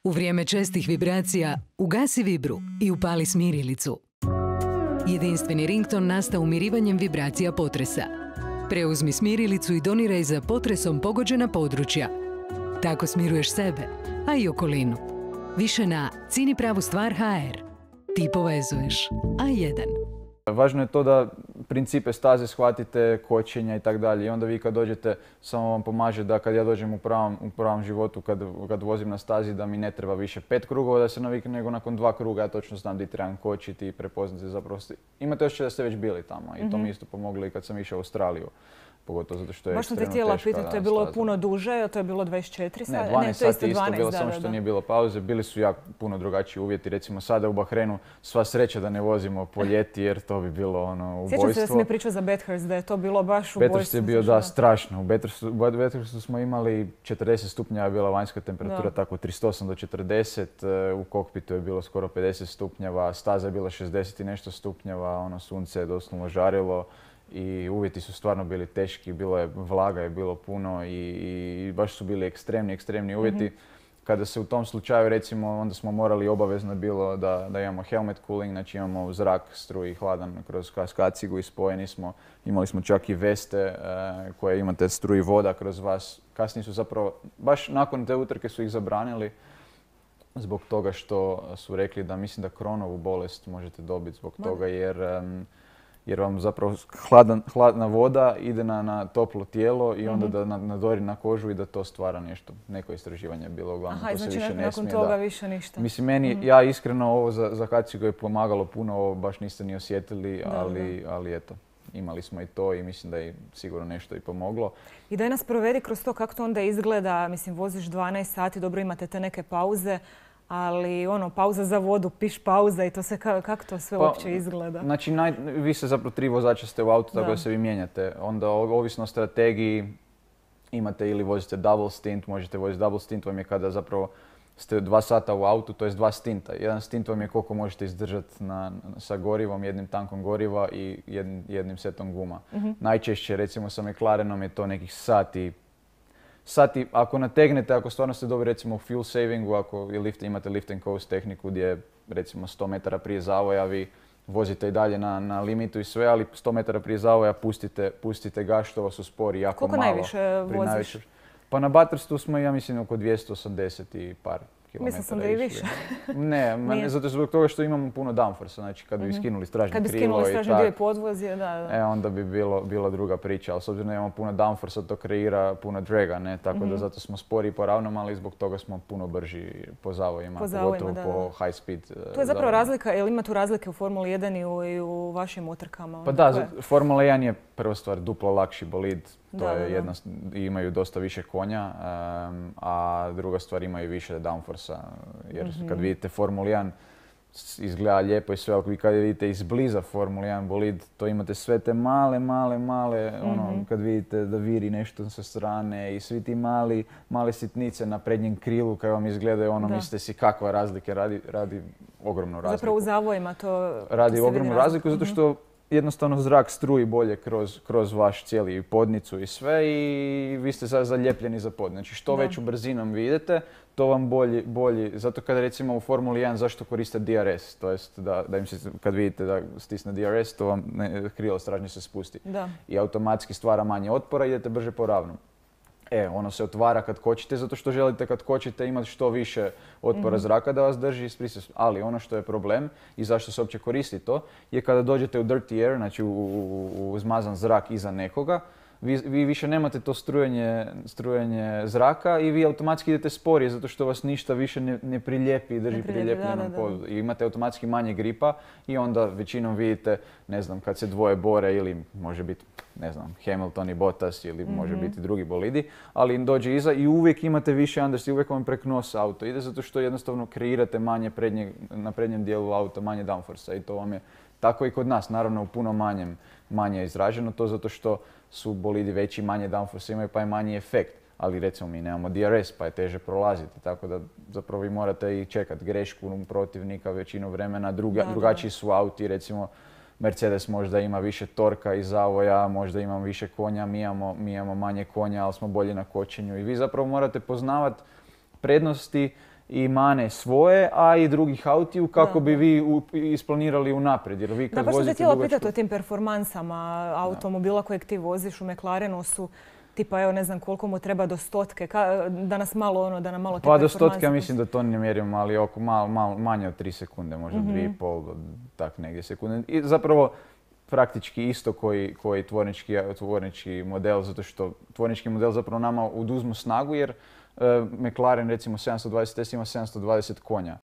U vrijeme čestih vibracija ugasi vibru i upali smirilicu. Jedinstveni rington nastao umirivanjem vibracija potresa. Preuzmi smirilicu i doniraj za potresom pogođena područja. Tako smiruješ sebe, a i okolinu. Više na cinipravustvar.hr. Ti povezuješ. A1. Važno je to da principe staze shvatite, kočenja i tako dalje. I onda vi kad dođete, samo vam pomaže da kad ja dođem u pravom životu, kad vozim na stazi, da mi ne treba više 5 krugova da se navikne, nego nakon 2 kruga ja točno znam di trebam kočiti i prepoznati zapravo. Imate osjećaj da ste već bili tamo i to mi isto pomoglo i kad sam išao u Australiju. Pogotovo zato što je ekstremno teška. Baš sam te htjela pitati, to je bilo puno duže, to je bilo 24 sati? Ne, 12 sati isto bilo, samo što nije bilo pauze. Bili su jako puno drugačiji uvjeti. Recimo sada u Bahrenu sva sreća da ne vozimo po ljeti jer to bi bilo ubojstvo. Sjećam se da si mi pričao za Bathurst, da je to bilo baš ubojstvo. Bathurst je bio strašno. U Bathurstu smo imali 40 stupnjeva je bila vanjska temperatura, tako 38 do 40. U kokpitu je bilo skoro 50 stupnjeva, staza je bila 60 i nešto stupnjeva, sunce je doslovno žarilo. I uvjeti su stvarno bili teški, vlaga je bilo puno i baš su bili ekstremni uvjeti. Kada se u tom slučaju, recimo, onda smo morali obavezno bilo da imamo helmet cooling, znači imamo zrak, struji, hladan kroz kacigu i spojeni smo. Imali smo čak i veste koje imate struji voda kroz vas. Kasnije su zapravo, baš nakon te utrke su ih zabranili zbog toga što su rekli da mislim da Crohnovu bolest možete dobiti zbog toga jer vam zapravo hladna voda ide na toplo tijelo i onda da nadori na kožu i da to stvara nešto. Neko istraživanje je bilo uglavnom. Aha, to znači se više nakon toga više ništa. Mislim, meni, ja iskreno ovo za kacigu je pomagalo puno, ovo baš niste ni osjetili, ali eto. Imali smo i to i mislim da je sigurno nešto i pomoglo. I daj nas provedi kroz to kako to onda izgleda. Mislim, voziš 12 sati, dobro imate te neke pauze. Ali pauza za vodu, piš pauza i to sve, kako to sve uopće izgleda? Znači, vi se zapravo 3 vozača ste u autu, tako da se vi mijenjate. Onda, ovisno o strategiji, imate ili vozite double stint, možete voziti double stint, vam je kada zapravo ste 2 sata u autu, to je 2 stinta. Jedan stint vam je koliko možete izdržati sa gorivom, jednim tankom goriva i jednim setom guma. Najčešće, recimo sa McLarenom je to nekih sati, ako nategnete, ako stvarno ste dobri recimo u fuel savingu, ako imate lift and coast tehniku gdje recimo 100 metara prije zavoja vi vozite i dalje na limitu i sve, ali 100 metara prije zavoja pustite gas, što vas uspori jako koliko malo. Koliko najviše voziš? Pa na Bathurstu smo, ja mislim, oko 280 i par kilometara. Mislim sam da i više. Ne, zato zbog toga što imamo puno downforce, znači kad bi skinuli stražnje krilo i dio i podvozje, onda bi bila druga priča, ali s obzirom da imamo puno downforce, to kreira puno draga, ne, tako da zato smo spori po ravnom, ali zbog toga smo puno brži po zavojima, pogotovo po high speed. To je zapravo razlika, jel ima tu razlike u Formuli 1 i u vašim utrkama? Pa da, Formula 1 je prva stvar duplo lakši bolid, imaju dosta više konja, a druga stvar imaju više downforce, jer kad vidite Formula 1 izgleda lijepo i sve, ali kad vidite izbliza Formula 1 bolid, to imate sve te male, kad vidite da viri nešto sa strane i svi ti male sitnice na prednjem krilu kad vam izgledaju, mislite si kakva razlika, radi ogromnu razliku. Zapravo u zavojima to radi ogromnu razliku zato što jednostavno zrak struji bolje kroz vaš cijeli podnicu i sve i vi ste zaljepljeni za pod. Znači što veću brzinom vi idete, to vam bolji. Zato kada recimo u Formuli 1 zašto koriste DRS, to jest da im se kad vidite da stisne DRS, to vam krilo stražnje se spusti. I automatski stvara manje otpora i idete brže po ravnom. Ono se otvara kad kočite, zato što želite kad kočite imati što više otpora zraka da vas drži isprisut. Ali ono što je problem i zašto se uopće koristi to, je kada dođete u dirty air, znači u zmazan zrak iza nekoga, vi više nemate to strujenje zraka i vi automatski idete sporije zato što vas ništa više ne prilijepi i drži prilijepljeno podu. I imate automatski manje gripa i onda većinom vidite, ne znam, kad se dvoje bore ili može biti, ne znam, Hamilton i Bottas ili može biti drugi bolidi, ali dođe iza i uvijek imate više understeer, uvijek vam prek nosa auto ide zato što jednostavno kreirate manje na prednjem dijelu auta, manje downforce i to vam je tako i kod nas, naravno u puno manje izraženo, to zato što su bolidi veći, manje downforce imaju pa je manji efekt. Ali recimo mi nemamo DRS pa je teže prolaziti, tako da zapravo vi morate i čekati grešku protivnika većinu vremena, drugačiji su auti, recimo Mercedes možda ima više torka i zavoja, možda ima više konja, mi imamo manje konja, ali smo bolji na kočenju i vi zapravo morate poznavati prednosti i mane svoje, a i drugih autiju kako bi vi isplanirali unaprijed. Jer vi kad baš sam te vozite htjela dugačku... pitati o tim performansama automobila kojeg ti voziš u McLarenu su tipa, evo ne znam koliko mu treba do 100, da nas malo, da nam malo te Pa do performanse... 100 mislim da to ne mjerimo, ali oko manje od 3 sekunde, možda 2,5 do tak negdje sekunde. I zapravo praktički isto koji tvornički model, zato što tvornički model zapravo nama oduzmu snagu jer McLaren recimo 720S ima 720 konja.